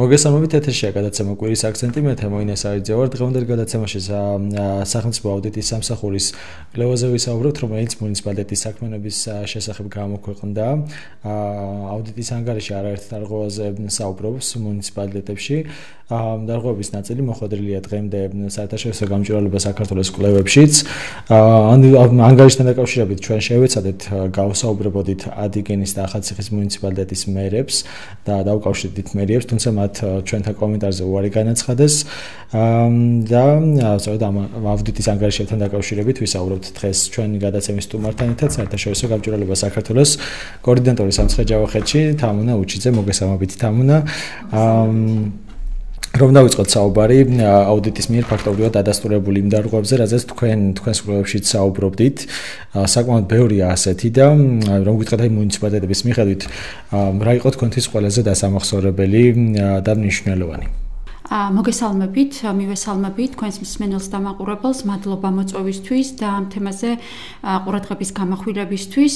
მოგესალმებით ეთერშია გადაცემა კვირის აქცენტი მე თემოინე საიძე ვარ დღევანდელ გადაცემაში სახელმწიფო აუდიტის სამსახურის კვლევაზე ვისაუბრებთ რომელიც მუნიციპალიტეტის საქმიანობის შესახებ გამოქვეყნდა აუდიტის ანგარიში არაერთ დარღვევაზე საუბრობს მუნიციპალიტეტებში დარღვევების ნაწილი მოხვედრილია დღემდე საერთაშორისო გამჭვირვალობა საქართველოს კვლევებშიც ანგარიშთან დაკავშირებით ჩვენ შევეცადეთ გავსაუბრებოდით ადიგენის და ახალციხის მუნიციპალიტეტის მერებს და დაუკავშირდით მერიებს თუმცა მათ ჩვენთან კომენტარზე უარი განაცხადეს და სწორედ ამ აუდიტის ანგარიშებთან დაკავშირებით ვისაუბრებთ დღეს ჩვენი გადაცემის სტუმართან ერთად საერთაშორისო გამჭვირვალობა საქართველოს კოორდინატორი სამცხე-ჯავახეთში თამუნა უჩიძე მოგესალმებით თამუნა რომ დავიწყოთ საუბარი აუდიტის მიერ ფაქტობრივად დადასტურებული იმ დარღვევებზე, რაზეც თქვენს კვლევებშიც საუბრობდით. საკმაოდ ბევრია ასეთი და რომ გითხრათ აი მუნიციპალიტეტების მიხედვით რა იყო თქვენთვის ყველაზე დასამახსოვრებელი და მნიშვნელოვანი? მოგესალმებით, მივესალმებით თქვენს მსმენელს და მაყურებელს, მადლობა მოწვევისთვის და ამ თემაზე ყურადღების გამახვილებისთვის.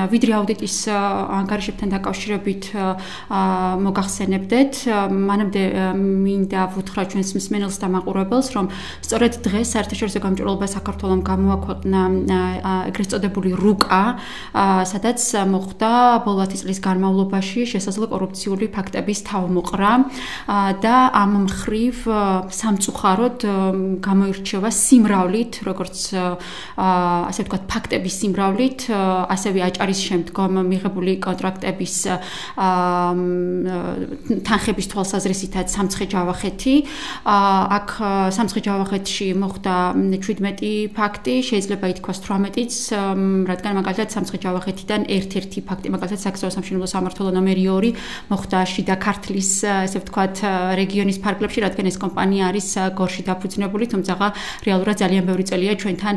ვიდრე აუდიტის ანგარიშებთან დაკავშირებით მოგახსენებდეთ, მანამდე მინდა ვუთხრა ჩვენს მსმენელს და მაყურებელს, რომ სწორედ დღეს საერთაშორისო გამჭვირვალობა საქართველოს გამოაქვეყნა ეგრეთ წოდებული რუკა, სადაც მოხდა ბოლო 10 წლის განმავლობაში შესაძლო კორუფციული ფაქტების თავმოყრა და ამ მხრივ სამწუხაროდ გამოირჩევა სიმრავლით, როგორც ასე ვთქვათ, ფაქტების სიმრავლით, ასევე აჭარის შემდგომ მიღებული კონტრაქტების თანხების თვალსაზრისითაც სამცხე-ჯავახეთი. აქ სამცხე-ჯავახეთში მოხდა 17 ფაქტი, შეიძლება ითქვას 18-იც, რადგან მაგალითად სამცხე-ჯავახეთიდან ერთ-ერთი ფაქტი, მაგალითად საგზაო სამშენებლო სამმართველო ნომერი 2 მოხდა შიდა ქართლის, ასე ვთქვათ, რეგიონის ფარგლებში, რადგან ეს კომპანია არის გორში დაფუძნებული, თუმცა რეალურად ძალიან ბევრი წელია ჩვენთან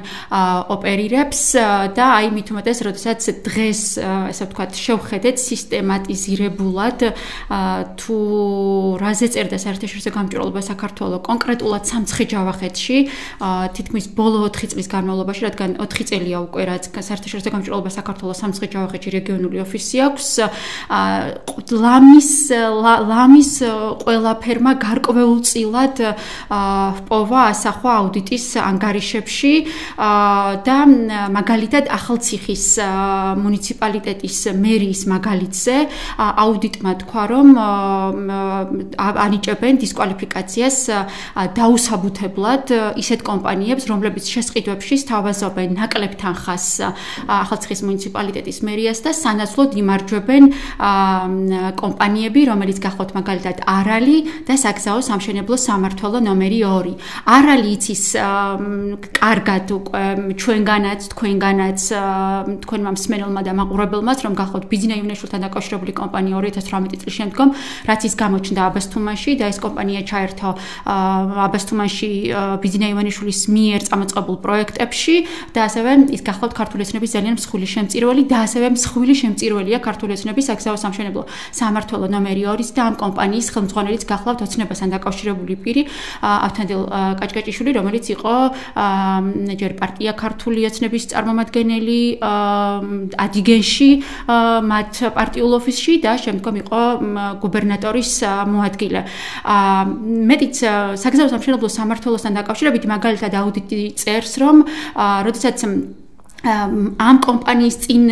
ოპერირებს და აი მით უმეტეს, როდესაც დღეს ასე ვთქვათ, შევხედეთ სისტემატიზირებულად თუ რაზე წერდა საერთაშორისო გამჭვირვალობა საქართველოს კონკრეტულად სამცხე-ჯავახეთში, თითქმის ბოლო 4 წლის განმავლობაში, რადგან 4 წელია უკვე რაც საერთაშორისო გამჭვირვალობა საქართველოს სამცხე-ჯავახეთში რეგიონული ოფისი აქვს, ლამის ყველაფერმა გარკვეულწილად პოვა ასახვა აუდიტის ანგარიშებში და მაგალითად ახალციხის მუნიციპალიტეტის მერის მაგალითზე აუდიტმა თქვა რომ ანიჭებენ დისკვალიფიკაციას დაუსაბუთებლად ისეთ კომპანიებს, რომლებიც შესყიდვებში სთავაზობენ ნაკლებ თანხას ახალციხის მუნიციპალიტეტის მერიას და სანაცვლოდ იმარჯვებენ კომპანიები, რომელიც გახლავთ მაგალითად არალი და საგზაო სამშენებლო სამმართველო ნომერი 2. არალი იცის კარგად უკვე ჩვენგანაც, თქვენგანაც, თქვენმა მსმენელმა და მაყურებელმაც, რომ გახლავთ ბიძინა ივნეშვილთან დაკავშირებული კომპანია 2018 წლის შემდგომ, რაც ის გამოჩნდა აბასთუმანში და ეს კომპანია ჩაერთო აბასთუმანში ბიძინა ივნეშვილის მიერ წამოწყებულ პროექტებში და ასევე ის გახლავთ ქართული ოცნების ძალიან მსხვილი შემწირველი და ასევე მსხვილი შემწირველია ქართული ოცნების საგზაო სამშენებლო სამმართველო ნომერი 2 და ამ კომპანიის ხელმძღვანელიც გახლავთ ოცნებასთან დაკავშირებული პირი ავთანდილ კაჭკაჭიშვილი, რომელიც იყო ჯერ პარტია ქართული ოცნების წარმომადგენელი ადიგენში მათ პარტიულ ოფისში და შემდგომ იყო გუბერნატორის მოადგილე. მეტიც საგზაო სამშენებლო სამმართველოსთან დაკავშირებით მაგალითად აუდიტი წერს, რომ როდესაც ამ კომპანიის წინ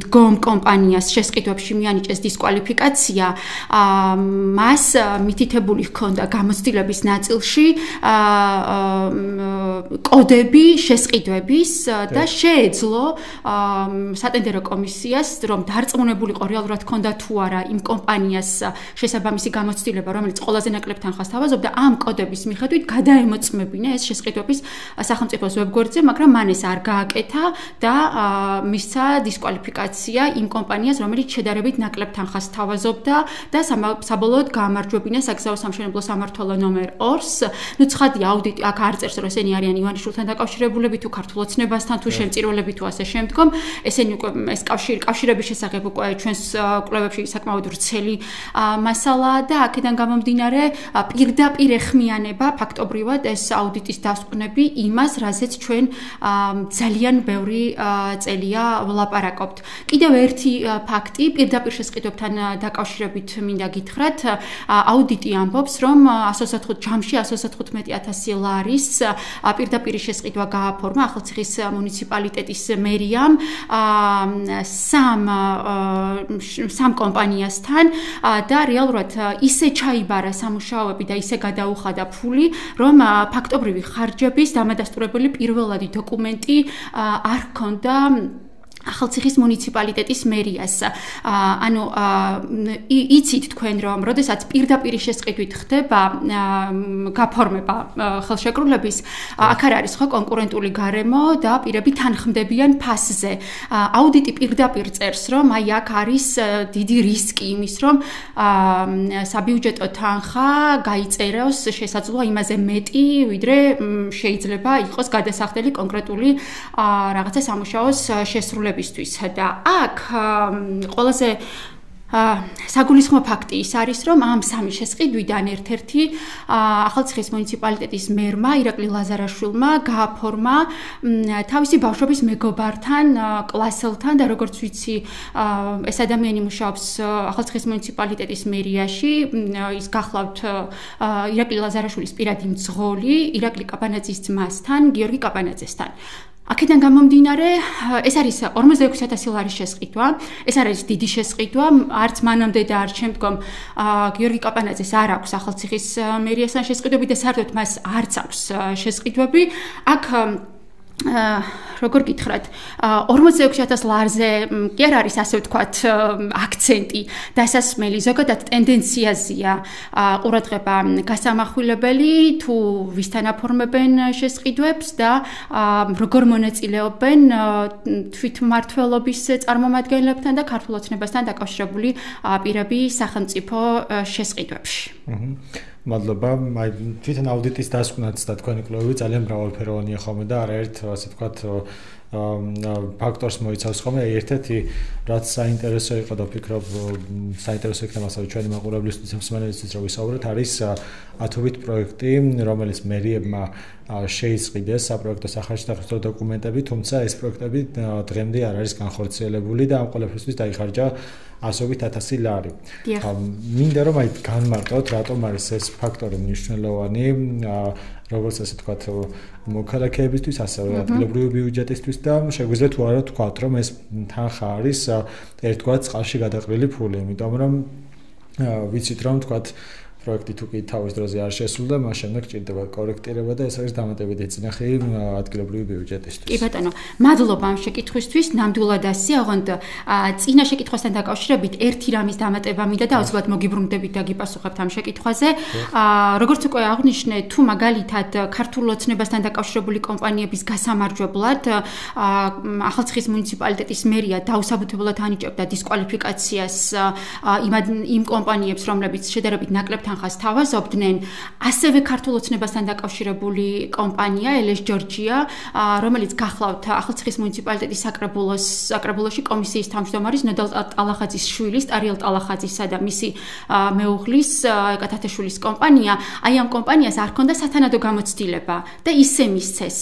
დგომ კომპანიას შესყიდვებში მიანიჭეს დისკვალიფიკაცია, მას მითითებული ჰქონდა გამოცდილების ნაწილში კოდები შესყიდვების და შეეძლო სატენდერო კომისიას, რომ დარწმუნებულიყო რეალურად ჰქონდა თუ არა იმ კომპანიას შესაბამისი გამოცდილება, რომელიც ყველაზე ნაკლებ თანხას თავაზობდა, ამ კოდების მიხედვით გადაემოწმებინა ეს შესყიდვების სახელმწიფოს ვებგვერდზე, მაგრამ მან ეს არ გააკეთა და მისცა დისკვალიფიკაცია იმ კომპანიას, რომელიც შედარებით ნაკლებ თანხას თავაზობდა და საბოლოოდ გაამარჯვებინა საგზაო სამშენებლო სამმართველო ნომერ 2-ს. ნუ ცხადია აუდიტი აქ არ წერს, რომ ესენი არიან ივანიშვილთან დაკავშირებულები თუ ქართულ ოცნებასთან თუ შემწირველები თუ ასე შემდგომ. ესენი უკვე ეს კავშირების შესახებ უკვე ჩვენს კვლევებში საკმაოდ ვრცელი მასალაა და აქედან გამომდინარე პირდაპირ ეხმიანება ფაქტობრივად ეს აუდიტის დასკვნები იმას, რაზეც ჩვენ ძალიან ბევრი პირველი წელია ვლაპარაკობთ. კიდევ ერთი ფაქტი პირდაპირ შესყიდვებთან დაკავშირებით მინდა გითხრათ. აუდიტი ამბობს, რომ 125,000 ლარის პირდაპირ შესყიდვა გააფორმა ახალციხის მუნიციპალიტეტის მერიამ სამ კომპანიასთან და რეალურად ისე ჩაიბარა სამუშაოები და ისე გადაუხადა ფული, რომ ფაქტობრივი ხარჯების დამადასტურებელი პირველადი დოკუმენტი არ ჰქონდა ახალციხის მუნიციპალიტეტის მერიას. ანუ იცით თქვენ რომ როდესაც პირდაპირ შესყიდვით ხდება გაფორმება ხელშეკრულების, აქ არის ხო კონკურენტული გარემო და პირები თანხმდებიან ფასზე. აუდიტი პირდაპირ წერს, რომ აი აქ არის დიდი რისკი იმის, რომ საბიუჯეტო თანხა გაიწეროს შესაძლოა იმაზე მეტი, ვიდრე შეიძლება იყოს გადასახდელი კონკრეტული რაღაცა სამუშაოს შესრულება. და აქ ყველაზე საგულისხმო ფაქტი ის არის, რომ ამ სამი შესყიდვიდან ერთ-ერთი ახალციხის მუნიციპალიტეტის მერმა ირაკლი ლაზარაშვილმა გააფორმა თავისი ბავშვობის მეგობართან, კლასელთან და როგორც ვიცი, ეს ადამიანი მუშაობს ახალციხის მუნიციპალიტეტის მერიაში, ის გახლავთ ირაკლი ლაზარაშვილის პირადი მძღოლი, ირაკლი კაპანაძის ძმასთან, გიორგი კაპანაძესთან. აქედან გამომდინარე, ეს არის 46,000 ლარის შესყიდვა. ეს არის დიდი შესყიდვა, არც მანამდე და არც შემდგომ გიორგი კაპანაძეს არ აქვს ახალციხის მერიასთან შესყიდვები და საერთოდ მას არც აქვს შესყიდვები. აქ როგორ გითხრათ, 46,000 ლარზე კი არ არის ასე ვთქვათ აქცენტი, დასასმელი, ზოგადად ტენდენციაზეა ყურადღება გასამახვილებელი თუ ვისთან აფორმებენ შესყიდვებს და როგორ მონაწილეობენ თვითმმართველობის წარმომადგენლებთან და ქართულ ოცნებასთან დაკავშირებული პირები სახელმწიფო შესყიდვებში. მადლობა. თვითონ აუდიტის დასკვნაც და თქვენი კვლევები ძალიან მრავალფეროვანია ხოლმე და არაერთ ასე ვთქვათ ფაქტორს მოიცავს ხოლმე. ერთ-ერთი რაც საინტერესო იყო და ვფიქრობ საინტერესო იქნება ასევე ჩვენი მაყურებლისთვის და მსმენელისთვის რომ ვისაუბროთ, არის ათობით პროექტი, რომელიც მერიებმა შეიწყვიტეს საპროექტო სახარჯთახილო დოკუმენტები, თუმცა ეს პროექტები დღემდე არ არის განხორციელებული და ამ ყველაფერთვის დაიხარჯა 100,000 ლარი. მინდა რომ აი განმარტოთ, რატომ არის ეს ფაქტორი მნიშვნელოვანი, როგორც ასე ვთქვათ, მოქალაქეებისთვის, ასევე ადგილობრივი ბიუჯეტისთვის და შეგვიძლია თუ არა ვთქვათ, რომ ეს თანხა არის ერთგვარ წყალში გადაყრილი ფული, იმიტომ რომ ვიცით რომ ვთქვათ პროექტი თუ კი თავის დროზე არ შესრულდა, მას შემდეგ ჭირდება კორექტირება და ეს არის დამატებითი წინახი ადგილობრივი ბიუჯეტისთვის. კი ბატონო, მადლობა ამ შეკითხვისთვის. ნამდვილად ასეა, ოღონდ წინა შეკითხვასთან დაკავშირებით ერთი რამის დამატება მინდა და აუცილებლად მოგიბრუნდებით და გიპასუხებთ ამ შეკითხვაზე. როგორც უკვე აღნიშნე, თუ მაგალითად ქართულ ოცნებასთან დაკავშირებული კომპანიების გასამარჯვებლად ახალციხის მუნიციპალიტეტის მერია დაუსაბუთებლად ანიჭებდა დისკვალიფიკაციას იმ კომპანიებს, რომლებიც შედარებით ნაკლებ თანხას თავაზობდნენ, ასევე ქართულ ოცნებასთან დაკავშირებული კომპანია ელეს ჯორჯია, რომელიც გახლავთ ახალციხის მუნიციპალიტეტის საკრებულოში კომისიის თავმჯდომარის ნოდალ ტალახაძის შვილის, ტარიელ ტალახაძისა და მისი მეუღლის ეკათათაშვილის კომპანია, აი ამ კომპანიას არ ჰქონდა სათანადო გამოცდილება და ისე მისცეს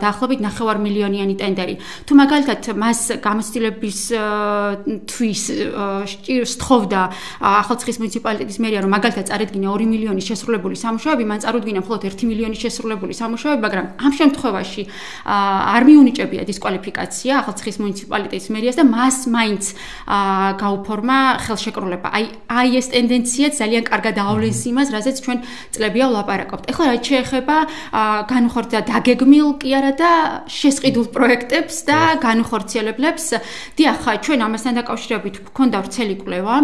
დაახლოებით 9 მილიონიანი ტენდერი. თუ მაგალითად მას გამოცდილების თვის სთხოვდა ახალციხის მუნიციპალიტეტის მერია, რომ მაგალითად წარედგინა 2 მილიონის შესრულებული სამუშაოები, მან წარუდგინა მხოლოდ 1 მილიონის შესრულებული სამუშაოები, მაგრამ ამ შემთხვევაში არ მიუნიჭებია დისკვალიფიკაცია ახალციხის მუნიციპალიტეტის მერიას და მას მაინც გაუფორმა ხელშეკრულება. აი ეს ტენდენცია ძალიან კარგად აავლენს იმას, რაზეც ჩვენ წლებია ვლაპარაკობთ. ეხლა რაც შეეხება განუხორციელება დაგეგმილ კი არა და შესყიდულ პროექტებს და განუხორციელებლებს, დიახ, ჩვენ ამასთან დაკავშირებით გვქონდა ვრცელი კვლევა.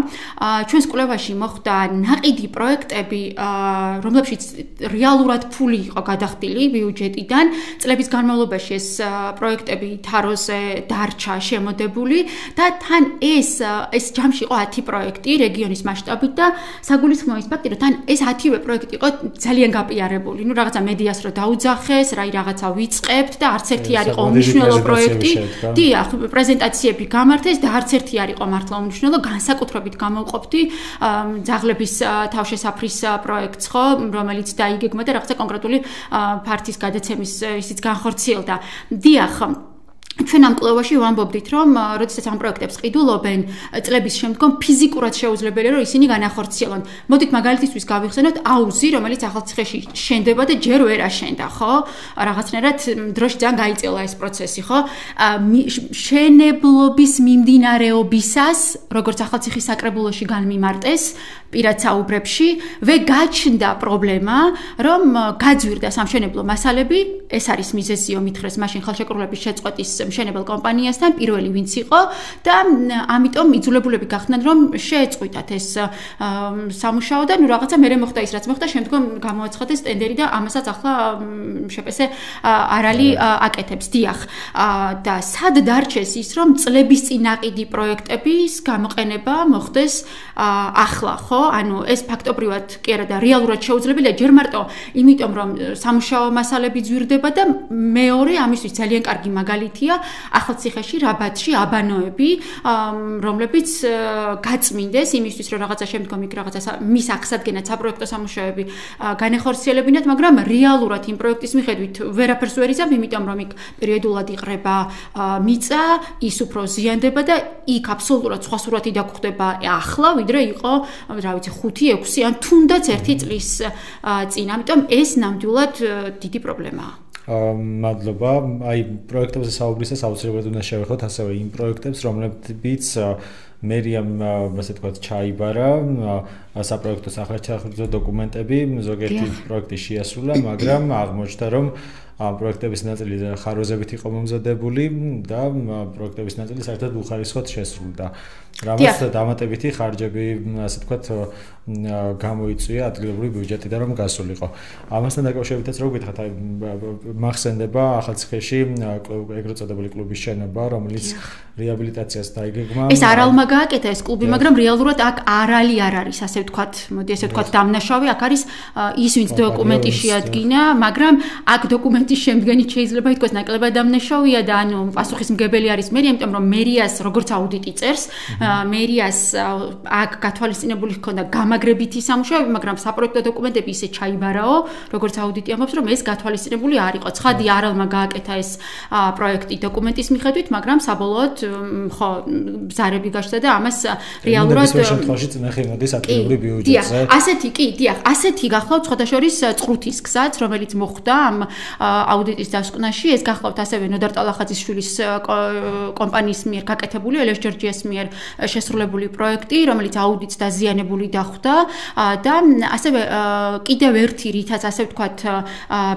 ჩვენს კვლევაში მოხდა ნაყიდი პროექტები, რომლებშიც რეალურად ფული იყო გადახდილი ბიუჯეტიდან. წლების განმავლობაში ეს პროექტები თაროზე დარჩა შემოდებული და თან ეს ჯამში იყო 10 პროექტი რეგიონის მასშტაბით და საგულისხმოა ის ფაქტი, რომ თან ეს 10-ვე პროექტი იყო ძალიან გაპიარებული. ნუ რაღაცა მედიას რო დაუძახეს, რაღაცა ვიწყებთ და არც ერთი არ იყო უმნიშვნელო პროექტი. დიახ, პრეზენტაციები გამართეს და არც ერთი არ იყო მართლა უმნიშვნელო, განსაკუთრებით გამოვყოფდი ძაღლების თავშესაფრის პროექტს, ხო, რომელიც დაიგეგმა და რაღაცა კონკრეტული ფართის გადაცემის ისიც განხორციელდა. დიახ, ჩვენ ამ კვლევაში ვამბობდით, რომ როდესაც ამ პროექტებს ყიდულობენ, წლების შემდგომ ფიზიკურად შეუძლებელია, რომ ისინი განახორციელონ. მოდით მაგალითისთვის გავიხსენოთ აუზი, რომელიც ახალციხეში შენდება და ჯერ ვერ აშენდა, ხო? რაღაცნაირად დროში ძალიან გაიწელა ეს პროცესი, ხო? შენებლობის მიმდინარეობისას, როგორც ახალციხის საკრებულოში განმიმარტეს, პირად საუბრებში, გაჩნდა პრობლემა, რომ გაძვირდა სამშენებლო მასალები, ეს არის მიზეზიო მითხრეს მაშინ ხელშეკრულების შეწყვეტის მშენებელ კომპანიასთან პირველი ვინც იყო და ამიტომ იძულებულები გახდნენ რომ შეეწყვიტათ ეს სამუშაო და რაღაცა მერე მოხდა ის რაც მოხდა შემდგომ გამოაცხადეს ტენდერი და ამასაც ახლა შეპესე არალი აკეთებს დიახ და სად დარჩეს ის რომ წლების წინ აყიდი პროექტების გამოყენება მოხდეს ახლა ხო ანუ ეს ფაქტობრივად კი არა და რეალურად შეუძლებელია ჯერ მარტო იმიტომ რომ სამუშაო მასალები ძვირდება და მეორე ამისთვის ძალიან კარგი მაგალითია ახალციხეში რაბათში აბანოები რომლებიც გაწმინდეს იმისთვის რომ რაღაცა შემდგომ იქ რაღაცა მის აღსადგენად საპროექტო სამუშაოები განეხორციელებინათ მაგრამ რეალურად იმ პროექტის მიხედვით ვერაფერს ვერ იზამ იმიტომ რომ იქ პერიოდულად იყრება მიწა ის უფრო ზიანდება და იქ აბსოლუტურად სხვა სურათი დაგხვდება ახლა ვიდრე იყო რა ვიცი 5-6 ან თუნდაც 1 წლის წინ ამიტომ ეს ნამდვილად დიდი პრობლემაა მადლობა. აი პროექტებზე საუბრისას აუცილებლად უნდა შევეხოთ ასევე იმ პროექტებს, რომლებიც მერიამ, ასე ვთქვათ, ჩაიბარა საპროექტო სახელმწიფო დოკუმენტები, ზოგიერთი პროექტი შეასრულა, მაგრამ აღმოჩნდა, რომ პროექტების ნაწილი ხარვეზებით იყო მომზადებული და პროექტების ნაწილი საერთოდ უხარისხოდ შესრულდა. რამაც დამატებითი ხარჯები, ასე ვთქვათ, გამოიწვია ადგილობრივი ბიუჯეტიდან რომ გასულიყო. ამასთან დაკავშირებითაც რო გითხრათ, აი მახსენდება ახალციხეში ეგრეთ წოდებული კლუბის შენობა, რომელიც რეაბილიტაციას დაიგეგმა. ეს არალმა გააკეთა ეს კლუბი, მაგრამ რეალურად აქ არალი არ არის, ასე ვთქვათ, მოდი ასე ვთქვათ, დამნაშავე, აქ არის ის ვინც დოკუმენტი შეადგინა, მაგრამ აქ დოკუმენტის შემდგენით შეიძლება ითქვას ნაკლებად დამნაშავეა და ანუ პასუხისმგებელი არის მერია, იმიტომ რომ მერიას როგორც აუდიტი წერს, მერიას აქ გათვალისწინებული ჰქონდა გამაგრებითი სამუშაოები, მაგრამ საპროექტო დოკუმენტები ისე ჩაიბარაო, როგორც აუდიტი ამბობს, რომ ეს გათვალისწინებული არ იყო. ცხადი არალმა გააკეთა ეს პროექტი დოკუმენტის მიხედვით, მაგრამ საბოლოოდ ხო ბზარები გაჩნდა და ამას რეალურად ეს შემთხვევაში წინახე მოდის ადგილობრივ ბიუჯეტზე. დიახ, ასეთი გახლავთ სხვადასხვა წყრუთის გზაც, რომელიც მოხდა ამ აუდიტის დასკვნაში, ეს გახლავთ ასევე ნოდარ ტალახაძის შვილის კომპანიის მიერ გაკეთებული ელეს ჯორჯიას მიერ შესრულებული პროექტი, რომელიც აუდიტს დაზიანებული დახვდა და ასევე კიდევ ერთი რითაც ასე ვთქვათ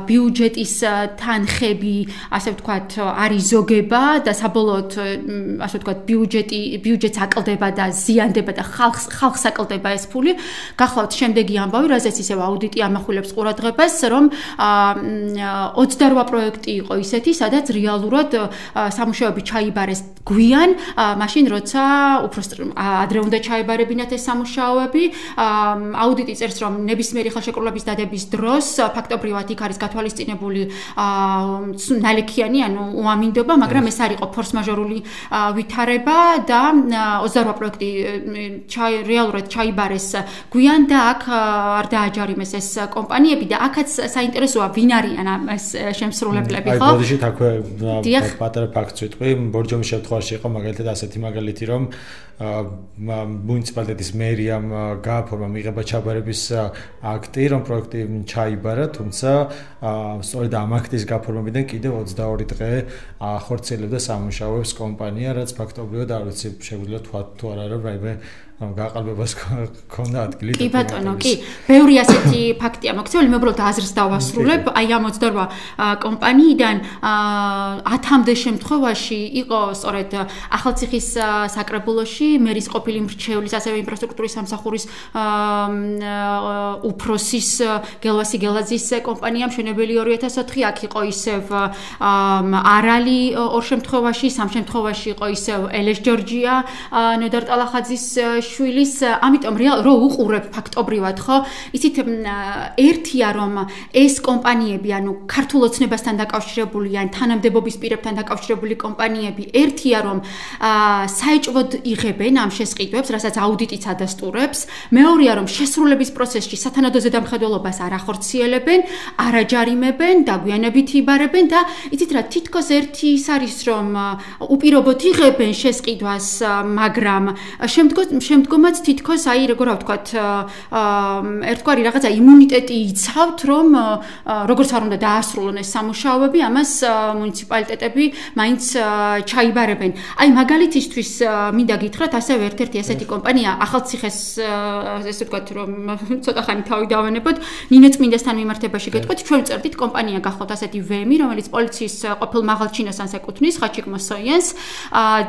ბიუჯეტის თანხები, ასე ვთქვათ, არის ზოგება და საბოლოოდ ასე ვთქვათ ბიუჯეტს აკლდება და ზიანდება და ხალხს აკლდება ეს ფული. გახლავთ შემდეგი ამბავი, რაზეც ისევ აუდიტი ამახვილებს ყურადღებას, რომ 28 პროექტი იყო ისეთი, სადაც რეალურად სამუშაოები ჩაიბარეს გვიან, მაშინ როცა უფრო ადრე უნდა ჩაებარებინათ ეს სამუშაოები. აუდიტი წერს, რომ ნებისმიერი ხელშეკრულების დადების დროს ფაქტობრივად იქ არის გათვალისწინებული ნალექიანი, ანუ უამინდობა, მაგრამ ეს არ იყო ფორს-მაჟორული ვითარება და 28 პროექტი რეალურად ჩაიბარეს გვიან და აქ არ დააჯარიმეს ეს კომპანიები და აქაც საინტერესოა ვინ არიან ეს შემსრულებლები, ხო? აი, ბოდიშით აქვე პატარა ფაქტს ვიტყვი, ბორჯომის შემთხვევაში იყო მაგალითად ასეთი მაგალითი, რომ მუნიციპალიტეტის მერიამ გააფორმა მიღება ჩაბარების აქტი, რომ პროექტი ჩაიბარა, თუმცა სწორედ ამ აქტის გაფორმებიდან კიდევ 22 დღე ახორციელებდა სამუშაოებს კომპანია, რაც ფაქტობრივად არ ვიცი, შეგვიძლია თქვა თუ არა, რომ რაიმე გაყალბებას ქონდა ადგილი. კი ბატონო, კი. ბევრი ასეთი ფაქტია მოქცეული, მე უბრალოდ აზრს დავასრულებ. აი ამ 28 კომპანიიდან 10-მდე შემთხვევაში იყო სწორედ ახალციხის საკრებულოში მერის ყოფილი მრჩევლის, ასევე ინფრასტრუქტურის სამსახურის უფროსის გელვასი გელაძის კომპანია მშენებელი 2004, აქ იყო ისევ არალი 2 შემთხვევაში, 3 შემთხვევაში იყო ისევ ელეს ჯორჯია ნოდარ ტალახაძის შვილის, ამიტომ რო უყურებ ფაქტობრივად, ხო? იცით, ერთია რომ ეს კომპანიები, ანუ ქართულ ოცნებასთან დაკავშირებული ან თანამდებობის პირებთან დაკავშირებული კომპანიები, ერთია რომ საეჭვოდ იღებენ ამ შესყიდვებს, რასაც აუდიტიც ადასტურებს. მეორეა რომ შესრულების პროცესში სათანადო ზედამხედველობას არ ახორციელებენ, არ აჯარიმებენ, დაგვიანებით იბარებენ და იცით რა, თითქოს ერთი ის არის რომ უპირობოდ იღებენ შესყიდვას, მაგრამ შემდგომაც თითქოს აი როგორ ვთქვათ, ერთგვარი რაღაცა იმუნიტეტი იცავთ, რომ როგორც არ უნდა დაასრულონ ეს სამუშაოები, ამას მუნიციპალიტეტები მაინც ჩაიბარებენ. აი მაგალითისთვის მინდა გითხრათ, ასევე ერთ-ერთი ესეთი კომპანია, ახალციხეს ესე ვთქვათ, რომ ცოტა ხანი თავი დავენებოთ, ნინოწმინდასთან მიმართებაში გეტყვით, ჩვენ ვწერდით კომპანია გახლავთ ასეთი ვემი, რომელიც პოლიციის ყოფილ მაღალჩინოსანს ეკუთვნის, ხაჩიკ მოსოიენს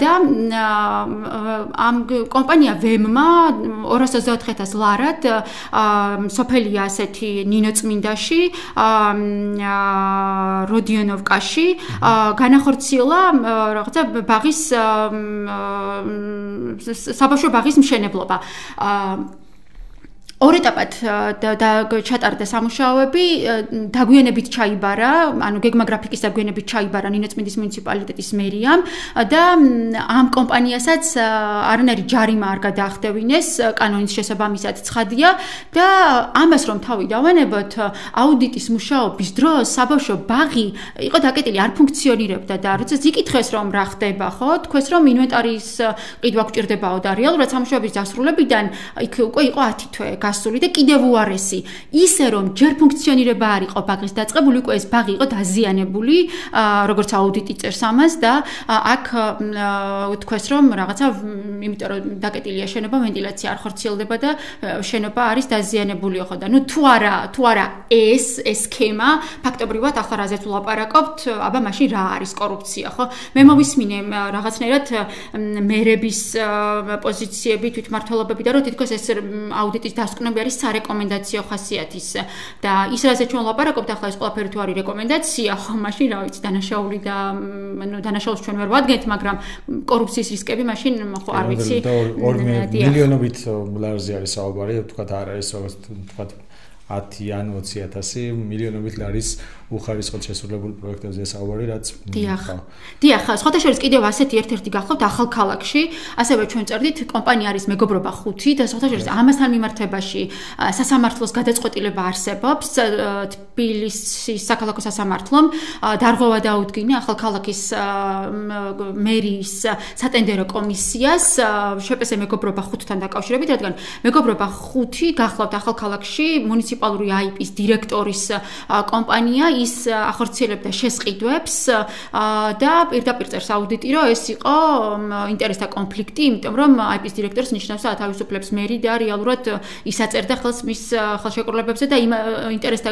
და ამ კომპანია ვემმა 224,000 ლარად სოფელია ასეთი ნინოწმინდაში, როდიონოვკაში განახორციელა რაღაცა ბაღის საბავშვო ბაღის მშენებლობა. ორ ეტაპად ჩატარდა სამუშაოები, დაგვიანებით ჩაიბარა, ანუ გეგმა გრაფიკის დაგვიანებით ჩაიბარა ნინოწმინდის მუნიციპალიტეტის მერიამ და ამ კომპანიასაც არანაირი ჯარიმა არ გადაახდევინეს, კანონის შესაბამისად ცხადია და ამას რომ თავი დავანებოთ, აუდიტის მუშაობის დროს საბავშვო ბაღი იყო დაკეტილი, არ ფუნქციონირებდა და როდესაც იკითხეს რომ რა ხდება, ხო, თქვეს რომ ინვენტარის ყიდვა გვჭირდებაო და რეალურად სამუშაოების დასრულებიდან იქ უკვე იყო 10 თვე გასული და კიდევ უარესი ისე რომ ჯერ ფუნქციონირება არ იყო ბაღის დაწყებული, უკვე ეს ბაღი იყო დაზიანებული, როგორც აუდიტი წერს ამას და აქ თქვეს რომ რაღაცა, იმიტომ რომ დაკეტილია შენობა, ვენტილაცია არ ხორციელდება და შენობა არის დაზიანებული ხო და ნუ თუ არა ეს სქემა ფაქტობრივად ახლა რაზეც ვლაპარაკობთ, აბა მაშინ რა არის კორუფცია, ხო? მე მოვისმინე რაღაცნაირად მერების პოზიციები, თვითმმართველობები და რომ თითქოს ეს აუდიტის დასკვნები არის სარეკომენდაციო ხასიათის და ის რაზეც ჩვენ ვლაპარაკობთ ახლა ეს ყველაფერი თუ არის რეკომენდაცია, ხო, მაშინ რა ვიცი, დანაშაული და ანუ დანაშაულს ჩვენ ვერ ვადგენთ, მაგრამ კორუფციის რისკები მაშინ ხო არ ვიცი. 2 მილიონობით ლარზე არის საუბარი, თქვათ არ არის როგორც თქვათ 10 ან 20,000 მილიონობით ლარის უხარისხოდ შესრულებულ პროექტებზე საუბარი, რაც დიახ, სხვათა შორის კიდევ ასეთი ერთ-ერთი გახლავთ ახალქალაქში, ასევე ჩვენ წერდით, კომპანია არის მეგობრობა 5 და სხვათა შორის ამასთან მიმართებაში სასამართლოს გადაწყვეტილება არსებობს, თბილისის საქალაქო სასამართლომ დარღვევა დაუდგინა ახალქალაქის მერიის სატენდერო კომისიას შპს მეგობრობა 5-თან დაკავშირებით, რადგან მეგობრობა 5 გახლავთ ახალქალაქში მუნიციპალური აიპის დირექტორის კომპანია, ის ახორციელებდა შესყიდვებს და პირდაპირ წერს აუდიტი, რომ ეს იყო ინტერესთა კონფლიქტი, იმიტომ რომ აიპის დირექტორს ნიშნავს ათავისუფლებს მერი და რეალურად ის აწერდა ხელს მის ხელშეკრულებებზე და იმ ინტერესთა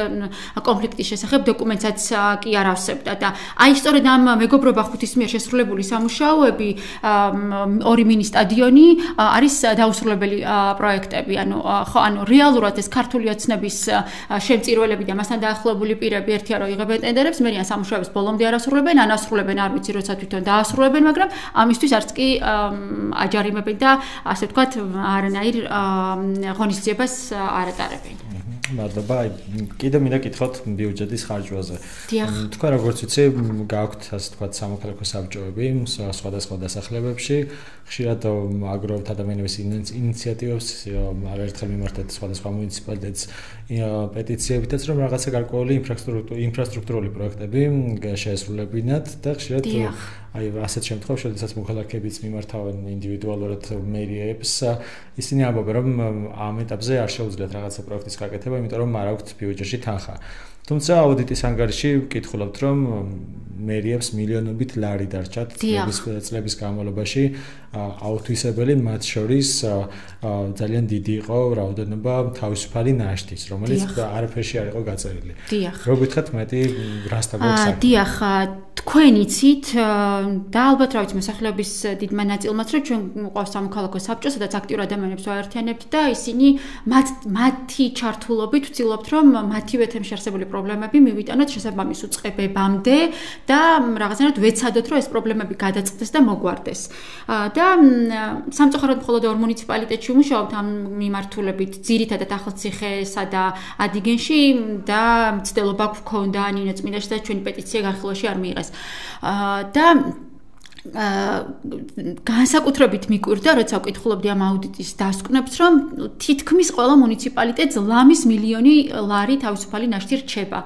კონფლიქტის შესახებ დოკუმენტსაც კი არ ავსებდა და აი სწორედ ამ მეგობრობა 5-ის მიერ შესრულებული სამუშაოები, 2 მინი სტადიონი არის დაუსრულებელი პროექტები, ანუ რეალურად ეს ქართული ოცნების შემწირველები და მასთან დაახლოებული პირები ერთია რომ იღებენ ტენდერებს, მერიან სამუშაოებს ბოლომდე არ ასრულებენ, ან ასრულებენ არ ვიცი როცა თვითონ დაასრულებენ, მაგრამ ამისთვის არც კი აჯარიმებენ და ასე ვთქვათ არანაირ ღონისძიებას არ ატარებენ. მადლობა. კიდე მინდა გითხრათ ბიუჯეტის ხარჯვაზე. თქვენ როგორც ვიცი, გაქვთ ასე ვთქვათ სამოქალაქო საბჭოები სხვადასხვა დასახლებებში, ხშირად აგროვებთ ადამიანების ინიციატივებს, არაერთხელ მიმართეთ სხვადასხვა მუნიციპალიტეტს პეტიციებითაც, რომ რაღაცა გარკვეული ინფრასტრუქტურული პროექტები შეესრულებინათ და ხშირად აი ასეთ შემთხვევაში, როდესაც მოქალაქეებიც მიმართავენ ინდივიდუალურად მერიებს, ისინი ამბობენ, რომ ამ ეტაპზე არ შეუძლიათ რაღაცა პროექტის გაკეთება, იმიტომ რომ არ აქვთ ბიუჯეტში თანხა. თუმცა აუდიტის ანგარიში ვკითხულობთ, რომ მერიებს მილიონობით ლარი დარჩათ წლების განმავლობაში აუთვისებელი, მათ შორის ძალიან დიდი იყო რაოდენობა თავისუფალი ნაშთის, რომელიც არაფერში არ იყო გაწერილი. რო გითხრათ მეტი რასთან გვაქვს? დიახ, თქვენ იცით და ალბათ რა ვიცი მოსახლეობის დიდმა ნაწილმაც, რომ ჩვენ გვყავს სამოქალაქო საბჭო, სადაც აქტიურ ადამიანებს ვაერთიანებთ და ისინი მათი ჩართულობით ვცდილობთ, რომ მათივე თემში არსებული პრობლემები მივიტანოთ შესაბამის უწყებებამდე და რაღაცნაირად ვეცადოთ, რომ ეს პრობლემები გადაწყდეს და მოგვარდეს. და სამწუხაროდ მხოლოდ 2 მუნიციპალიტეტში ვმუშაობთ ამ მიმართულებით, ძირითადად ახალციხესა და ადიგენში და მცდელობა გვქონდა ნინო წმინდაშვილის და ჩვენი პეტიცია განხილვაში არ მიიღეს. და განსაკუთრებით მიკვირდა, როცა ვკითხულობდი ამ აუდიტის დასკვნებს, რომ თითქმის ყველა მუნიციპალიტეტს ლამის მილიონი ლარი თავისუფალი ნაშთი რჩება.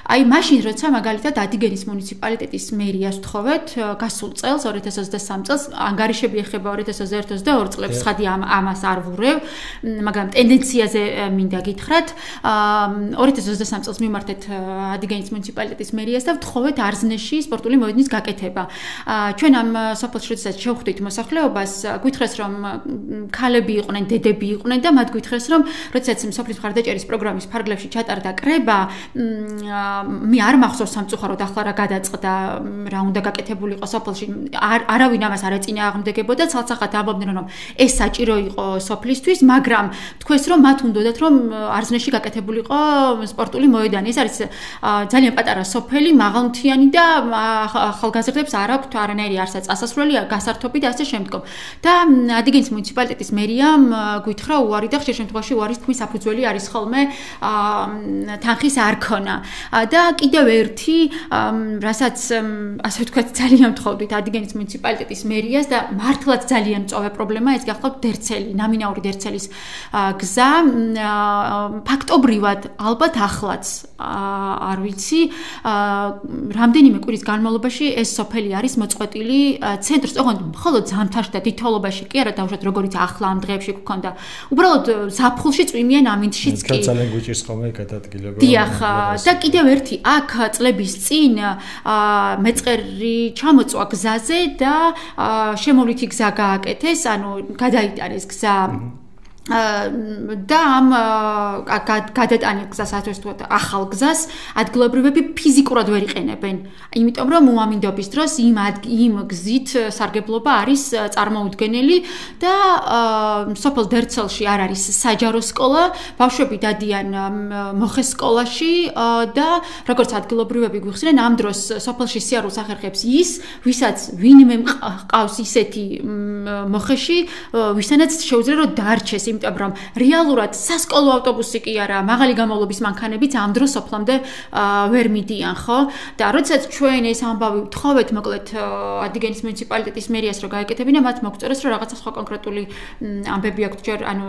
აი მაშინ როცა მაგალითად ადიგენის მუნიციპალიტეტის მერიას ვთხოვეთ გასულ წელს 2023 წელს ანგარიშები ეხება 2021-22 წლებს ხადი ამას არ ვურევ, მაგრამ ტენდენციაზე მინდა გითხრათ 2023 წელს მიმართეთ ადიგენის მუნიციპალიტეტის მერიას და ვთხოვეთ არზნეში სპორტული მოედნის გაკეთება. ჩვენ ამ სოფელში როდესაც შევხვდით მოსახლეობას, გვითხრეს რომ ქალები იყვნენ, დედები იყვნენ და მათ გვითხრეს რომ როდესაც სოფლის მხარდაჭერის პროგრამის ფარგლებში ჩატარდა კრება, მე არ მახსოვს სამწუხაროდ ახლა რა გადაწყდა, რა უნდა გაკეთებულიყო სოფელში, არავინ ამას არ ეწინააღმდეგებოდა, ცალსახად ამბობდნენ რომ ეს საჭირო იყო სოფლისთვის, მაგრამ თქვეს რომ მათ უნდათ რომ არზნეში გაკეთებულიყო სპორტული მოედანი. ეს არის ძალიან პატარა სოფელი, მაღალმთიანი და ახალგაზრდებს არ აქვთ არანაირი არსაც ასასვლელი, გასართობი და ასე შემდგომ. და ადიგენის მუნიციპალიტეტის მერიამ გვითხრა უარი და ხშირ შემთხვევაში უარის თქმის საფუძველი არის ხოლმე თანხის არქონა. და კიდევ ერთი, რასაც ასე ვთქვათ, ძალიან ვთხოვდით ადიგენის მუნიციპალიტეტის მერიას და მართლაც ძალიან მწვავე პრობლემა, ეს გახლავთ დერცელი, ნამინაური დერცელის გზა. ფაქტობრივად ალბათ ახლაც არ ვიცი, რამდენიმე კვირის განმავლობაში ეს სოფელი არის მოწყვეტილი ცენტრს, ოღონდ მხოლოდ ზამთარში და თითოეულობაში კი არა, დავუშვათ როგორიც ახლა ამ დღეებში გქონდა. უბრალოდ ზაფხულში წვიმიან ამინდშიც კი. ძალიან გვიჭირს ხოლმე გადადგილება. დიახ, და კიდევ ერთი აქ წლების წინ მეწყერი ჩამოწვა გზაზე და შემოვლითი გზა გააკეთეს, ანუ გადაიტანეს გზა და ამ გადატანილ გზას ათვისოთ ახალ გზას ადგილობრივები ფიზიკურად ვერ იყენებენ, იმიტომ რომ უამინდობის დროს იმ გზით სარგებლობა არის წარმოუდგენელი და სოფელ დერცელში არ არის საჯარო სკოლა, ბავშვები დადიან მოხეს სკოლაში და როგორც ადგილობრივები გვიხსნენ, ამ დროს სოფელში სიარულს ახერხებს ის, ვისაც ვინმე მყავს ისეთი მოხეში, ვისთანაც შეუძლია რომ დარჩეს, იმიტომ რომ რეალურად სასკოლო ავტობუსი კი არა, მაღალი გამოვლობის მანქანებიც ამ დროს სოფლამდე ვერ მიდიან, ხო? და როდესაც ჩვენ ეს ამბავი ვთხოვეთ, მოკლედ ადიგენის მუნიციპალიტეტის მერიას რომ გაეკეთებინა, მათ მოგწერეს რომ რაღაცა სხვა კონკრეტული ამბები აქვთ, ჯერ ანუ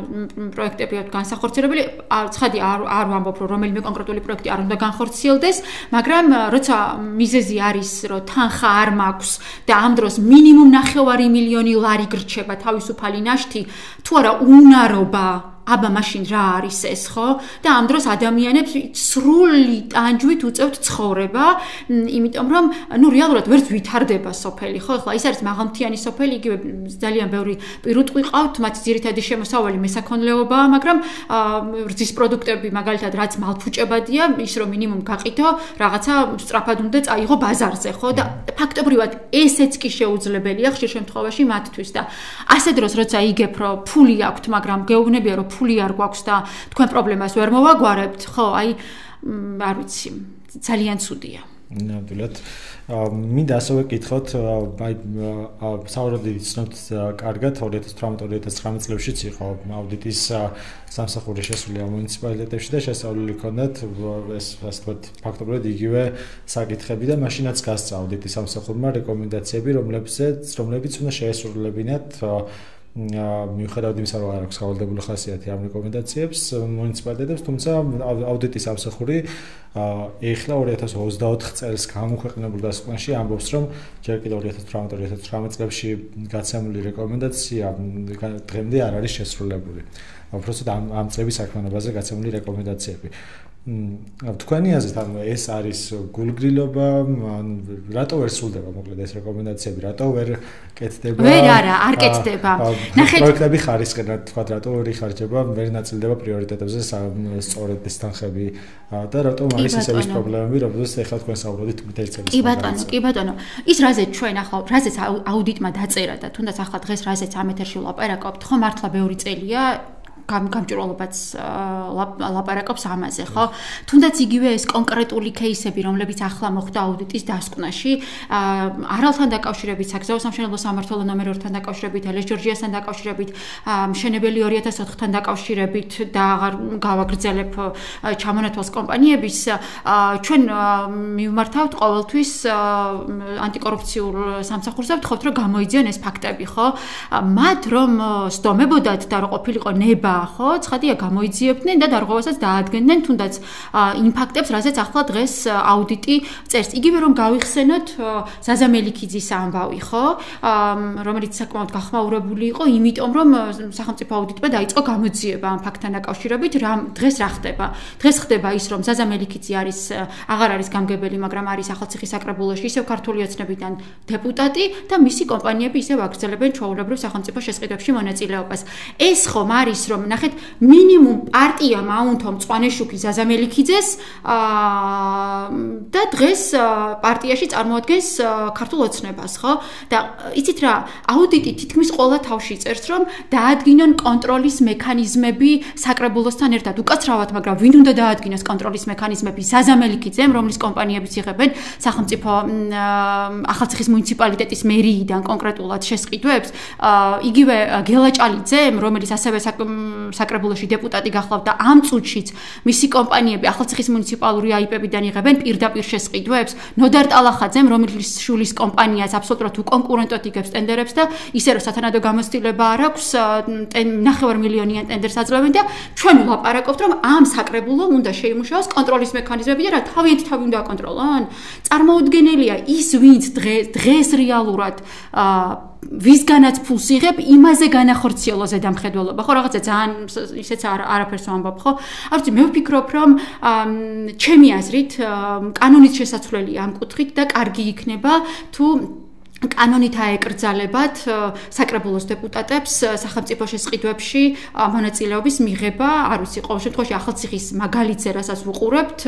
პროექტები აქვთ განსახორციელებელი, ცხადი არ ვამბობ რომ რომელიმე კონკრეტული პროექტი არ უნდა განხორციელდეს, მაგრამ როცა მიზეზი არის რომ თანხა არ მაქვს და ამ დროს მინიმუმ 9 მილიონი ლარი გრჩება თავისუფალი ნაშთი, თუ არა უნარობა აბა მაშინ რა არის ეს, ხო? და ამ დროს ადამიანებს სრული ტანჯვით უწევთ ცხოვრება, იმიტომ რომ ნუ რეალურად ვერც ვითარდება სოფელი, ხო? ახლა ის არის მაღალმთიანი სოფელი, იგივე ძალიან ბევრი პირუტყვი ყავთ, მათი ძირითადი შემოსავალი მესაქონლეობაა, მაგრამ რძის პროდუქტები მაგალითად რაც მალფუჭებადია, ის რომ მინიმუმ გაყიდო, რაღაცა სწრაფად უნდა წაიღო ბაზარზე, ხო? და ფაქტობრივად ესეც კი შეუძლებელია ხშირ შემთხვევაში მათთვის და ასე დროს როცა იგებ რომ ფული აქვთ, მაგრამ გეუბნებია რომ ფული არ გვაქვს და თქვენ პრობლემას ვერ მოვაგვარებთ, ხო, აი არ ვიცი, ძალიან ცუდია. ნამდვილად. მინდა ასევე გითხოთ, აი საუბრობდი ცნობთ კარგად 2018-2019 წლებშიც იყო აუდიტის სამსახური შესული ამ მუნიციპალიტეტებში და შესწავლილი ჰქონდათ ეს ასე ვთქვათ ფაქტობრივად იგივე საკითხები და მაშინაც გასცა აუდიტის სამსახურმა რეკომენდაციები, რომლებიც უნდა შეესრულებინათ მიუხედავად იმისა, რომ არ აქვს გავალდებული ხასიათი ამ რეკომენდაციებს მუნიციპალიტეტებს, თუმცა აუდიტის სამსახური ეხლა 2024 წელს გამოქვეყნებულ დასკვნაში ამბობს, რომ ჯერ კიდევ 2018-2019 წლებში გაცემული რეკომენდაცია დღემდე არ არის შესრულებული. უბრალოდ ამ წლების საქმიანობაზე გაცემული რეკომენდაციები. თქვენი აზრით, ანუ ეს არის გულგრილობა, რატო ვერ სრულდება მოკლედ ეს რეკომენდაციები, რატო ვერ კეთდება? არ კეთდება. ნახეთ, პროექტები ხარისხენ, თქვა, რატო ვერ იხარჯება, ვერ ნაწილდება პრიორიტეტებზე სწორედ ეს თანხები და რატო არის ისეთი პრობლემები, რომელზეც ეხლა თქვენ საუბრობთ მთელი წელი. კი ბატონო, ის რაზეც ჩვენ ახლა რაზეც აუდიტმა დაწერა და თუნდაც ახლა დღეს რაზეც ამ ეთერში ვლაპარაკობთ, ხო მართლა ბევრი წელია გამჭვირვალობაც ლაპარაკობს ამაზე, ხო? თუნდაც იგივე ეს კონკრეტული кейსები, რომლებიც ახლა მოხდა აუდიტის დასკვნაში, არალთან დაკავშირებით, საგზაო სამშენებლო სამმართველო ნომერ 2-თან დაკავშირებით, ელეს ჯორჯიასთან დაკავშირებით, მშენებელი 2004-თან დაკავშირებით და აღარ გავაგრძელებ ჩამონათვალს კომპანიების, ჩვენ მივმართავთ ყოველთვის ანტიკორუფციულ სამსახურს და ვთხოვთ, რომ გამოიძიონ ეს ფაქტები, ხო? მათ რომ სდომებოდათ და რომ ყოფილიყო ნება, ხო? ცხადია გამოიძიებდნენ და დარღვევასაც დაადგენდნენ თუნდაც იმ ფაქტებს, რასაც ახლა დღეს აუდიტი წერს. იგივე რომ გავიხსენოთ ზაზა მელიქიძის ამბავი, ხო? რომელიც საკმაოდ გახმაურებული იყო, იმიტომ რომ სახელმწიფო აუდიტმა დაიწყო გამოძიება ამ ფაქტთან დაკავშირებით, დღეს რა ხდება? დღეს ხდება ის, რომ ზაზა მელიქიძე აღარ არის გამგებელი, მაგრამ არის ახალციხის საკრებულოში ისევ ქართული ოცნებიდან დეპუტატი და მისი კომპანიები ისევ აგრძელებენ ჩვეულებრივ სახელმწიფო შესყიდვებში მონაწილეობას. ეს ხომ არის, რომ ნახეთ, მინიმუმ პარტიამ აუნთო მწვანეშუქი ზაზა მელიქიძეს და დღეს პარტიაში წარმოადგენს ქართულ ოცნებას, ხო? და იცით რა, აუდიტი თითქმის ყველა თავში წერს, რომ დაადგინონ კონტროლის მექანიზმები საკრებულოსთან ერთად. უკაცრავად, მაგრამ ვინ უნდა დაადგინოს კონტროლის მექანიზმები? ზაზა მელიქიძემ, რომლის კომპანიებიც იღებენ სახელმწიფო ახალციხის მუნიციპალიტეტის მერიიდან კონკრეტულად შესყიდვებს, იგივე გელაჭალიძემ, რომელიც ასევე საკრებულოში დეპუტატი გახლავთ და ამ წუთშიც მისი კომპანიები ახალციხის მუნიციპალური აიპებიდან იღებენ პირდაპირ შესყიდვებს, ნოდარ ტალახაძემ, რომელიც შულის კომპანიას აბსოლუტურად უკონკურენტოდ იგებს ტენდერებს და ისე რომ სათანადო გამოცდილება არ აქვს, 9 მილიონიან ტენდერს აძლევენ და ჩვენ ვლაპარაკობთ, რომ ამ საკრებულომ უნდა შეიმუშაოს კონტროლის მექანიზმები და რა თავიანთი თავი უნდა აკონტროლონ? წარმოუდგენელია ის, ვინც დღეს რეალურად ვისგანაც ფულს იღებ, იმაზე განახორციელო ზედამხედველობა, ხო, რაღაცა ძალიან ისეც არაფერს ვამბობ, ხო? არ ვიცი, მე ვფიქრობ, რომ ჩემი აზრით კანონით შესაძლებელია ამ კუთხით და კარგი იქნება თუ კანონით აეკრძალებათ საკრებულოს დეპუტატებს სახელმწიფო შესყიდვებში მონაწილეობის მიღება, არ ვიცი, ყოველ შემთხვევაში ახალციხის მაგალითზე, რასაც ვუყურებთ,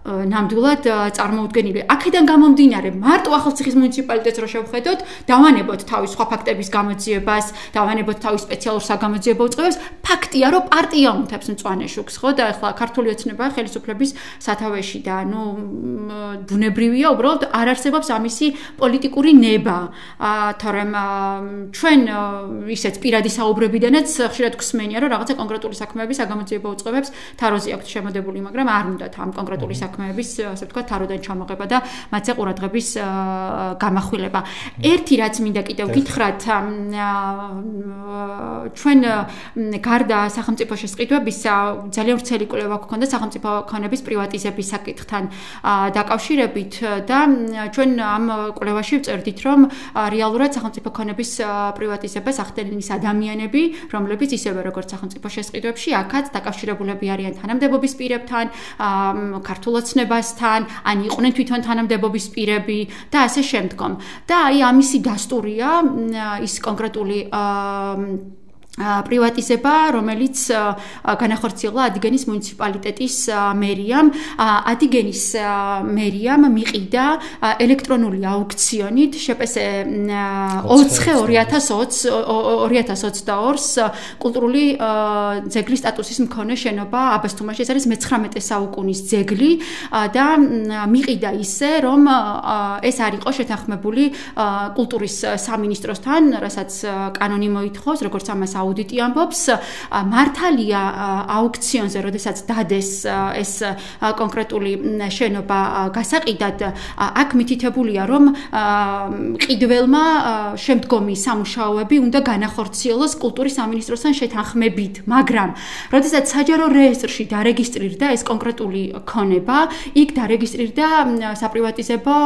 ნამდვილად წარმოუდგენელი. აქედან გამომდინარე, მარტო ახალციხის მუნიციპალიტეტს რო შევხედოთ, დავანებოთ თავის სხვა ფაქტების გამოძიებას, დავანებოთ თავის სპეციალურ საგამოძიებო უწყებას, ფაქტია, რომ პარტია უნთებს მწვანეშუქს, ხო? და ახლა ქართული ოცნება ხელისუფლების სათავეში და ბუნებრივია, უბრალოდ არ არსებობს ამისი პოლიტიკური ნება. თორემ ჩვენ ისეთ პირადი საუბრებიდანაც ხშირად გვსმენია, რომ რაღაცა კონკრეტული საქმეების საგამოძიებო უწყებებს თაროზე აქვთ შემოდებული, მაგრამ არ უნდათ ამ კონკრეტული საქმეების, ასე ვთქვათ, თაროდან ჩამოღება და მათზე ყურადღების გამახვილება. ერთი რაც მინდა კიდევ გითხრათ, ჩვენ გარდა სახელმწიფო შესყიდვებისა ძალიან ვრცელი კვლევა გვქონდა სახელმწიფო ქონების პრივატიზების საკითხთან დაკავშირებით და ჩვენ ამ კვლევაში ვწერდით, რომ რეალურად სახელმწიფო ქონების პრივატიზებას ახდენენ ის ადამიანები, რომლებიც ისევე როგორც სახელმწიფო შესყიდვებში აქაც დაკავშირებულები არიან თანამდებობის პირებთან, ქართულ ოცნებასთან, ან იყვნენ თვითონ თანამდებობის პირები და ასე შემდგომ. და აი ამისი დასტურია ის კონკრეტული პრივატიზება, რომელიც განახორციელა ადიგენის მუნიციპალიტეტის მერიამ. ადიგენის მერიამ მიყიდა ელექტრონული აუქციონით შპს 2022-ს კულტურული ძეგლის სტატუსის მქონე შენობა აბასთუმანში. ეს არის 19 საუკუნის ძეგლი და მიყიდა ისე, რომ ეს არ იყო შეთანხმებული კულტურის სამინისტროსთან, რასაც კანონი მოითხოვს, როგორც ამას აუდიტი ამბობს, მართალია აუქციონზე, როდესაც დადეს ეს კონკრეტული შენობა გასაყიდად, აქ მითითებულია, რომ ყიდველმა შემდგომი სამუშაოები უნდა განახორციელოს კულტურის სამინისტროსთან შეთანხმებით, მაგრამ როდესაც საჯარო რეესტრში დარეგისტრირდა ეს კონკრეტული ქონება, იქ დარეგისტრირდა საპრივატიზებო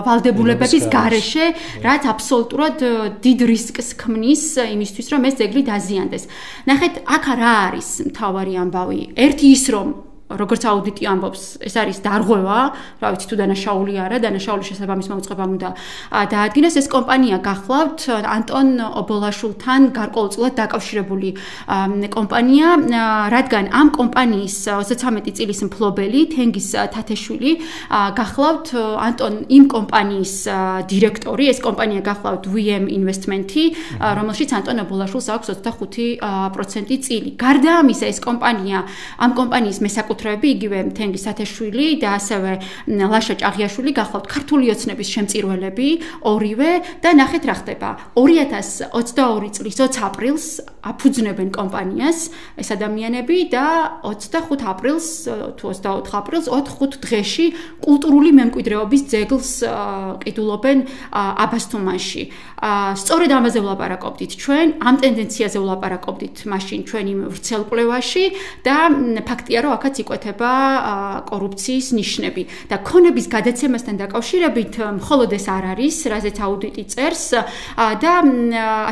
ვალდებულებების გარეშე, რაც აბსოლუტურად დიდ რისკს ქმნის იმისთვის, რომ ეს ძეგლი დაზიანდეს. ნახეთ, აქ რა არის მთავარი ამბავი? ერთი ის, რომ როგორც აუდიტი ამბობს, ეს არის დარღვევა, რა ვიცი თუ დანაშაული არა, დანაშაულის შესაბამის მოუწყებამ უნდა დაადგინოს. ეს კომპანია გახლავთ ანტონ ობოლაშვილთან გარკვეულწილად დაკავშირებული კომპანია, რადგან ამ კომპანიის 33 წლის მფლობელი თენგიზ თათეშვილი გახლავთ ანტონ იმ კომპანიის დირექტორი, ეს კომპანია გახლავთ VM Investment-ი, რომელშიც ანტონ ობოლაშვილს აქვს 25% წილი. გარდა ამისა, ეს კომპანია, ამ კომპანიის მესაკუთრეები, იგივე თენგიზ თათეშვილი და ასევე ლაშა ჭაღიაშვილი გახლავთ ქართული ოცნების შემწირველები, ორივე და ნახეთ რა ხდება. 2022 წლის 20 აპრილს აფუძნებენ კომპანიას ეს ადამიანები და 25 აპრილს თუ 24 აპრილს 4-5 დღეში კულტურული მემკვიდრეობის ძეგლს ყიდულობენ აბასთუმანში. სწორედ ამაზე ვლაპარაკობდით ჩვენ, ამ ტენდენციაზე ვლაპარაკობდით მაშინ ჩვენი ვრცელკვლევაში და ფაქტია, რომ აქაც იკვეთება კორუფციის ნიშნები და ქონების გადაცემასთან დაკავშირებით მხოლოდ ეს არ არის, რაზეც აუდიტი წერს და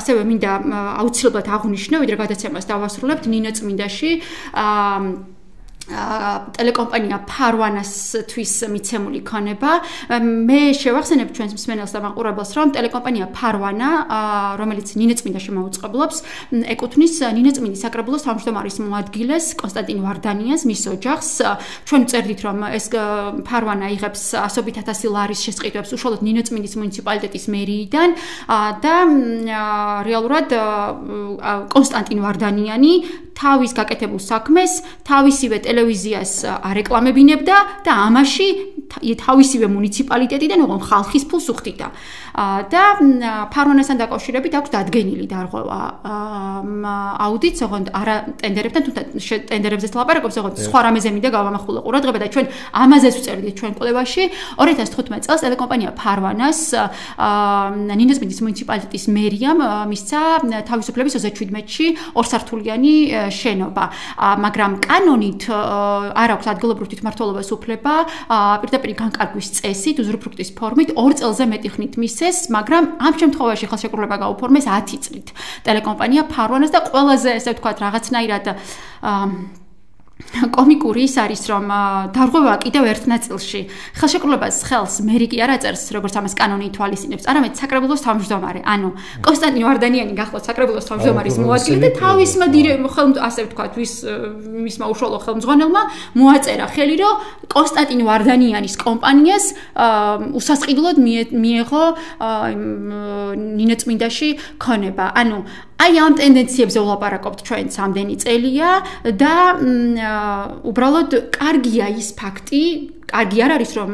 ასევე მინდა აუცილებლად აღვნიშნო, ვიდრე გადაცემას დავასრულებთ, ნინო წმინდაში ტელეკომპანია ფარვანასთვის მიცემული ქონება. მე შევახსენებ ჩვენს მსმენელს და მაყურებელს, რომ ტელეკომპანია ფარვანა, რომელიც ნინო წმინდაში მოუწყებლობს, ეკუთვნის ნინო წმინდის საკრებულოს თავმჯდომარის მოადგილეს კონსტანტინ ვარდანიანს, მის ოჯახს. ჩვენ წერდით, რომ ეს ფარვანა იღებს ასობით ათასი ლარის შესყიდვებს უშუალოდ ნინო წმინდის მუნიციპალიტეტის მერიიდან და რეალურად კონსტანტინ ვარდანიანი თავის გაკეთებულ საქმეს თავისივე ტელევიზიას არეკლამებინებდა და ამაში თავისივე მუნიციპალიტეტიდან ოღონ ხალხის ფულს უხდიდა. და ფარვანასთან დაკავშირებით აქვს დადგენილი დარღვევა აუდიტს, ოღონდ არა ტენდერებთან, თუმცა ტენდერებზე ლაპარაკობს, ოღონდ სხვა რამეზე მინდა გავამახვილო ყურადღება და ჩვენ ამაზეც ვწერდით ჩვენ კვლევაში. 2015 წელს ტელეკომპანია ფარვანას ნინოს წმინდის მუნიციპალიტეტის მერიამ მისცა თავისუფლების 37-ში ორსართულიანი შენობა, მაგრამ კანონით არ აქვს ადგილობრივ თვითმმართველობას უფლება პირდაპირ განკარგვის წესით, უზრუფრუქტის ფორმით 2 წელზე მეტი ხნით მისცეს, მაგრამ ამ შემთხვევაში ხელშეკრულება გაუფორმეს 10 წლით. ტელეკომპანია ფარვანას და ყველაზე ესე ვთქვათ რაღაცნაირად კომიკური ის არის, რომ დარღვევა კიდევ ერთ ნაწილში ხელშეკრულებას ხელს მერი კი არ აწერს, როგორც ამას კანონი ითვალისწინებს, არამედ საკრებულოს თავმჯდომარე. ანუ კონსტანტინ ვარდანიანი გახლავთ საკრებულოს თავმჯდომარის მოადგილე და თავისმა ასე ვთქვათ, მისმა უშუალო ხელმძღვანელმა მოაწერა ხელი, რომ კონსტანტინ ვარდანიანის კომპანიას უსასყიდლოდ მიეღო ნინო წმინდაში ქონება. ანუ აი ამ ტენდენციებზე ვლაპარაკობთ ჩვენ სამდენი წელია და უბრალოდ კარგია ის ფაქტი, კარგი არ არის რომ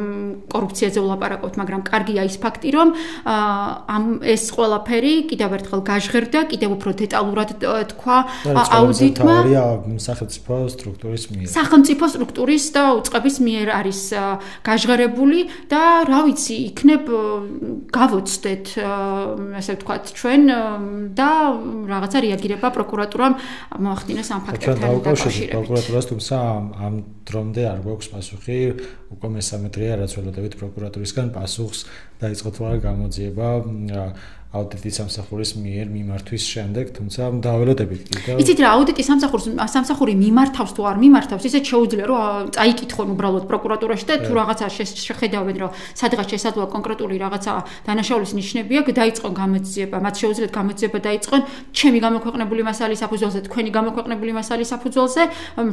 კორუფციაზე ვლაპარაკობთ, მაგრამ კარგია ის ფაქტი, რომ ეს ყველაფერი კიდევ ერთხელ გაჟღერდა, კიდევ უფრო დეტალურად თქვა აუდიტმა სახელმწიფო სტრუქტურის მიერ. სახელმწიფო სტრუქტურის და უწყების მიერ არის გაჟღერებული და რა ვიცი, იქნებ გავოცდეთ, ასე ვთქვათ, ჩვენ და რაღაცა რეაგირება პროკურატურამ მოახდინეს ამ ფაქტებთან დაკავშირებით. პროკურატურას თუმცა ამ დრომდე არ გვაქვს პასუხი. უკვე მესამე დღეა, რაც ველოდებით პროკურატურისგან პასუხს დაიწყო თუ არა გამოძიება აუდიტის სამსახურის მიერ მიმართვის შემდეგ, თუმცა დაველოდებით კიდევ. იცით რა, აუდიტის სამსახური მიმართავს თუ არ მიმართავს, ისე შეუძლია რომ წაიკითხონ უბრალოდ პროკურატურაში და თუ რაღაცა შეხედავენ, რომ სადღაც შესაძლოა კონკრეტული რაღაცა დანაშაულის ნიშნები აქვს, დაიწყონ გამოძიება, მათ შეუძლიათ გამოძიება დაიწყონ ჩემი გამოქვეყნებული მასალის საფუძველზე, თქვენი გამოქვეყნებული მასალის საფუძველზე,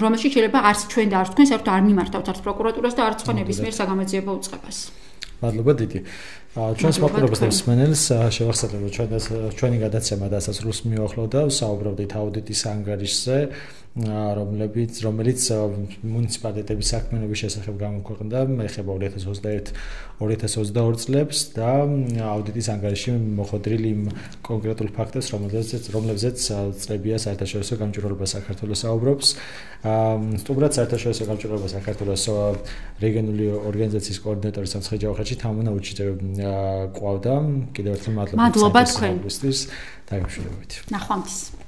რომელშიც შეიძლება არც ჩვენ და არც თქვენ საერთოდ არ მიმართავთ არც პროკურატურას და არც სხვა ნებისმიერ საგამოძიებო უწყებას. მადლობა დიდი. ჩვენს მაყურებელს და მსმენელს შევახსენებ, რომ ჩვენი გადაცემა დასასრულს მიუახლოვდა, საუბრობდით აუდიტის ანგარიშზე, რომელიც მუნიციპალიტეტების საქმიანობის შესახებ გამოქვეყნდა, ეხება 2021-2022 წლებს და აუდიტის ანგარიში მოხდრილი იმ კონკრეტულ ფაქტებს, რომლებზეც წლებია საერთაშორისო გამჭვირვალობა საქართველოს საუბრობს. სტუმრად საერთაშორისო გამჭვირვალობა საქართველოს რეგიონული ორგანიზაციის კოორდინატორი სამცხე ჯავახეთში თამუნა უჩიძე ყავდა. კიდევ ერთხელ მადლობა თქვენთვის. დაგემშვიდობებით. ნახვამდის.